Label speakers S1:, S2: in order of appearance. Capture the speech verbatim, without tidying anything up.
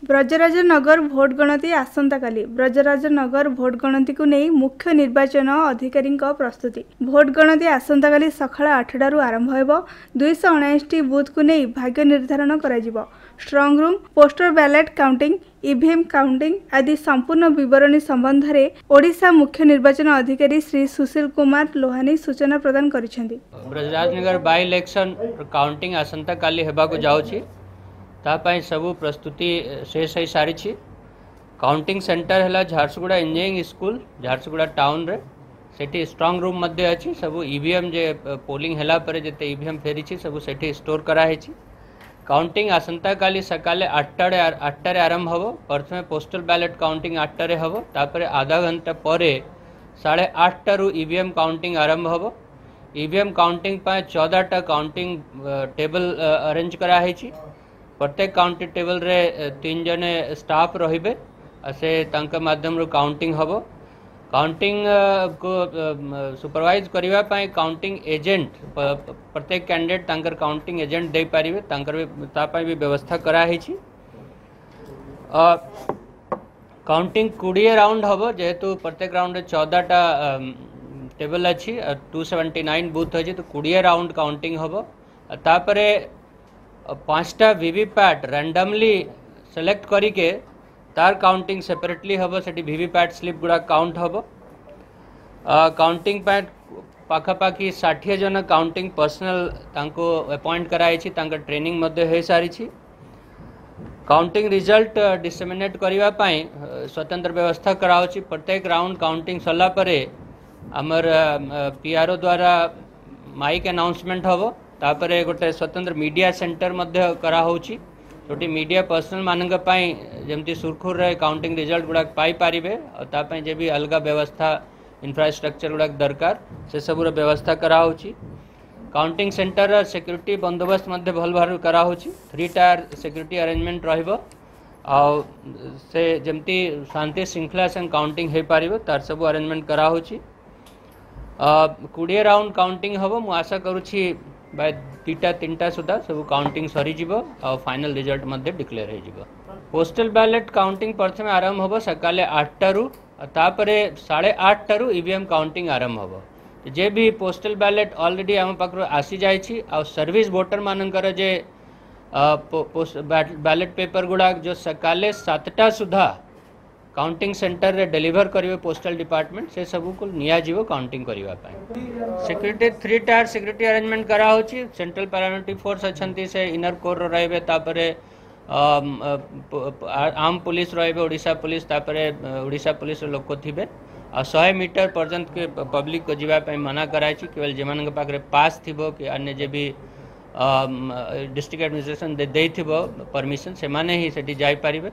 S1: Brajrajnagar vote ଗଣତି ଆସନ୍ତାକାଲି। Brajrajnagar vote ଗଣତିକୁ ନେଇ ମୁଖ୍ୟ ନିର୍ବାଚନ ଅଧିକାରୀଙ୍କ ପ୍ରସ୍ତୁତି। ଭୋଟ ଗଣତି ଆସନ୍ତାକାଲି ସକାଳ ଆଠଟାରୁ ଆରମ୍ଭ ହେବ। ଦୁଇଶହ ଅଣାଅଶୀଟି ବୁଥକୁ ନେଇ ଭାଗ୍ୟ ନିର୍ଦ୍ଧାରଣ କରାଯିବ। Strong room, postal ballot counting, E V M counting ଆଦି ସମ୍ପୂର୍ଣ୍ଣ ବିବରଣୀ ସମ୍ବନ୍ଧରେ ଓଡ଼ିଶା ମୁଖ୍ୟ ନିର୍ବାଚନ ଅଧିକାରୀ ଶ୍ରୀ ସୁଶୀଲ କୁମାର ଲୋହାନୀ ସୂଚନା ପ୍ରଦାନ କରିଛନ୍ତି।
S2: ବ୍ରଜରାଜନଗର ବାଇ ଇଲେକ୍ସନ୍ କାଉଣ୍ଟିଂ ଆସନ୍ତାକାଲି ହେବାକୁ ଯାଉଛି। ତା ପାଇଁ ସବୁ ପ୍ରସ୍ତୁତି ଶେଷ ହୋଇସାରିଛି। କାଉଣ୍ଟିଂ ସେଣ୍ଟର ହେଲା ଝାରସୁଗୁଡ଼ା ଇଞ୍ଜିନିୟରିଂ ସ୍କୁଲ, ଝାରସୁଗୁଡ଼ା ଟାଉନରେ। ସେଠି ଷ୍ଟ୍ରଙ୍ଗ ରୁମ୍ ମଧ୍ୟ ଅଛି। ସବୁ ଇଭିଏମ୍ ଯେ ପୋଲିଂ ହେଲା ପରେ ଯେତେ ଇଭିଏମ୍ ଫେରିଛି, ସବୁ ସେଠି ଷ୍ଟୋର୍ କରାହେଇଛି। କାଉଣ୍ଟିଂ ଆସନ୍ତାକାଲି ସକାଳେ ଆଠଟାରେ ଆଠଟାରେ ଆରମ୍ଭ ହେବ। ପ୍ରଥମେ ପୋଷ୍ଟାଲ ବ୍ୟାଲେଟ୍ କାଉଣ୍ଟିଂ ଆଠଟାରେ ହେବ। ତାପରେ ଆଧା ଘଣ୍ଟା ପରେ ସାଢ଼େ ଆଠଟାରୁ ଇଭିଏମ୍ କାଉଣ୍ଟିଂ ଆରମ୍ଭ ହେବ। ଇଭିଏମ୍ କାଉଣ୍ଟିଂ ପାଇଁ ଚଉଦଟା କାଉଣ୍ଟିଂ ଟେବଲ୍ ଆରେଞ୍ଜ କରାହେଇଛି। ପ୍ରତ୍ୟେକ କାଉଣ୍ଟିଂ ଟେବଲ୍ରେ ତିନି ଜଣ ଷ୍ଟାଫ୍ ରହିବେ ଆଉ ସେ ତାଙ୍କ ମାଧ୍ୟମରୁ କାଉଣ୍ଟିଂ ହେବ। କାଉଣ୍ଟିଂ କୁ ସୁପରଭାଇଜ୍ କରିବା ପାଇଁ କାଉଣ୍ଟିଂ ଏଜେଣ୍ଟ, ପ୍ରତ୍ୟେକ କ୍ୟାଣ୍ଡିଡେଟ୍ ତାଙ୍କର କାଉଣ୍ଟିଂ ଏଜେଣ୍ଟ ଦେଇପାରିବେ। ତାଙ୍କର ବି ତା ପାଇଁ ବି ବ୍ୟବସ୍ଥା କରାହେଇଛି। କାଉଣ୍ଟିଂ କୋଡ଼ିଏ ରାଉଣ୍ଡ ହେବ। ଯେହେତୁ ପ୍ରତ୍ୟେକ ରାଉଣ୍ଡରେ ଚଉଦଟା ଟେବଲ୍ ଅଛି, ଟୁ ସେଭେଣ୍ଟି ନାଇନ୍ ବୁଥ୍ ଅଛି, ତ କୋଡ଼ିଏ ରାଉଣ୍ଡ କାଉଣ୍ଟିଂ ହେବ। ତାପରେ ପାଞ୍ଚଟା ଭିଭିପ୍ୟାଟ୍ ରାଣ୍ଡମଲି ସିଲେକ୍ଟ କରିକେ ତାର କାଉଣ୍ଟିଂ ସେପାରେଟଲି ହେବ। ସେଠି ଭିଭିପ୍ୟାଟ୍ ସ୍ଲିପ୍ ଗୁଡ଼ା କାଉଣ୍ଟ ହେବ। କାଉଣ୍ଟିଂ ପାଇଁ ପାଖାପାଖି ଷାଠିଏ ଜଣ କାଉଣ୍ଟିଂ ପର୍ସନାଲ ତାଙ୍କୁ ଆପଏଣ୍ଟ କରାଯାଇଛି। ତାଙ୍କ ଟ୍ରେନିଂ ମଧ୍ୟ ହୋଇସାରିଛି। କାଉଣ୍ଟିଂ ରିଜଲ୍ଟ ଡିସେମିନେଟ୍ କରିବା ପାଇଁ ସ୍ୱତନ୍ତ୍ର ବ୍ୟବସ୍ଥା କରାହେଉଛି। ପ୍ରତ୍ୟେକ ରାଉଣ୍ଡ କାଉଣ୍ଟିଂ ସରିଲା ପରେ ଆମର ପିଆର୍ଓ ଦ୍ୱାରା ମାଇକ୍ ଆନାଉନ୍ସମେଣ୍ଟ ହେବ। ତାପରେ ଗୋଟେ ସ୍ୱତନ୍ତ୍ର ମିଡ଼ିଆ ସେଣ୍ଟର ମଧ୍ୟ କରାହେଉଛି, ଯେଉଁଠି ମିଡ଼ିଆ ପର୍ସନାଲ ମାନଙ୍କ ପାଇଁ ଯେମିତି ସୁରୁଖୁରୁରେ କାଉଣ୍ଟିଂ ରେଜଲ୍ଟ ଗୁଡ଼ାକ ପାଇପାରିବେ ଆଉ ତା ପାଇଁ ଯେ ବି ଅଲଗା ବ୍ୟବସ୍ଥା, ଇନଫ୍ରାଷ୍ଟ୍ରକ୍ଚର ଗୁଡ଼ାକ ଦରକାର, ସେସବୁର ବ୍ୟବସ୍ଥା କରାହେଉଛି। କାଉଣ୍ଟିଂ ସେଣ୍ଟରର ସିକ୍ୟୁରିଟି ବନ୍ଦୋବସ୍ତ ମଧ୍ୟ ଭଲ ଭାବରେ କରାହେଉଛି। ଥ୍ରୀ ଟାୟାର ସିକ୍ୟୁରିଟି ଆରେଞ୍ଜମେଣ୍ଟ ରହିବ ଆଉ ସେ ଯେମିତି ଶାନ୍ତି ଶୃଙ୍ଖଳା ସାଙ୍ଗେ କାଉଣ୍ଟିଂ ହେଇପାରିବ, ତାର ସବୁ ଆରେଞ୍ଜମେଣ୍ଟ କରାହେଉଛି। କୋଡ଼ିଏ ରାଉଣ୍ଡ କାଉଣ୍ଟିଂ ହେବ। ମୁଁ ଆଶା କରୁଛି ବାଇ ଦୁଇଟା ତିନିଟା ସୁଦ୍ଧା ସବୁ କାଉଣ୍ଟିଂ ସରିଯିବ ଆଉ ଫାଇନାଲ ରେଜଲ୍ଟ ମଧ୍ୟ ଡିକ୍ଲେୟାର ହେଇଯିବ। ପୋଷ୍ଟାଲ ବ୍ୟାଲେଟ୍ କାଉଣ୍ଟିଂ ପ୍ରଥମେ ଆରମ୍ଭ ହେବ ସକାଳେ ଆଠଟାରୁ, ତାପରେ ସାଢ଼େ ଆଠଟାରୁ ଇଭିଏମ୍ କାଉଣ୍ଟିଂ ଆରମ୍ଭ ହେବ। ଯେ ବି ପୋଷ୍ଟାଲ ବ୍ୟାଲେଟ୍ ଅଲରେଡ଼ି ଆମ ପାଖରୁ ଆସିଯାଇଛି ଆଉ ସର୍ଭିସ୍ ଭୋଟର ମାନଙ୍କର ଯେ ବ୍ୟାଲେଟ୍ ପେପର ଗୁଡ଼ାକ ଯେଉଁ ସକାଳେ ସାତଟା ସୁଦ୍ଧା କାଉଣ୍ଟିଂ ସେଣ୍ଟରରେ ଡେଲିଭର କରିବେ ପୋଷ୍ଟାଲ ଡିପାର୍ଟମେଣ୍ଟ, ସେ ସବୁକୁ ନିଆଯିବ କାଉଣ୍ଟିଂ କରିବା ପାଇଁ। Security, three tier security arrangement କରାହେଉଛି। ସେଣ୍ଟ୍ରାଲ ପାରାମିଲିଟାରୀ ଫୋର୍ସ ଅଛନ୍ତି, ସେ ଇନର କୋର୍ର ରହିବେ। ତାପରେ ଆର୍ମ ପୋଲିସ ରହିବେ, ଓଡ଼ିଶା ପୋଲିସ, ତାପରେ ଓଡ଼ିଶା ପୋଲିସର ଲୋକ ଥିବେ। ଆଉ ଶହେ ମିଟର ପର୍ଯ୍ୟନ୍ତ ପବ୍ଲିକକୁ ଯିବା ପାଇଁ ମନା କରାଯାଇଛି। କେବଳ ଯେମାନଙ୍କ ପାଖରେ ପାସ୍ ଥିବ କି ଅନ୍ୟ ଯେ ବି ଡିଷ୍ଟ୍ରିକ୍ଟ ଆଡମିନିଷ୍ଟ୍ରେସନ ଦେଇଥିବ ପରମିସନ୍, ସେମାନେ ହିଁ ସେଠି ଯାଇପାରିବେ।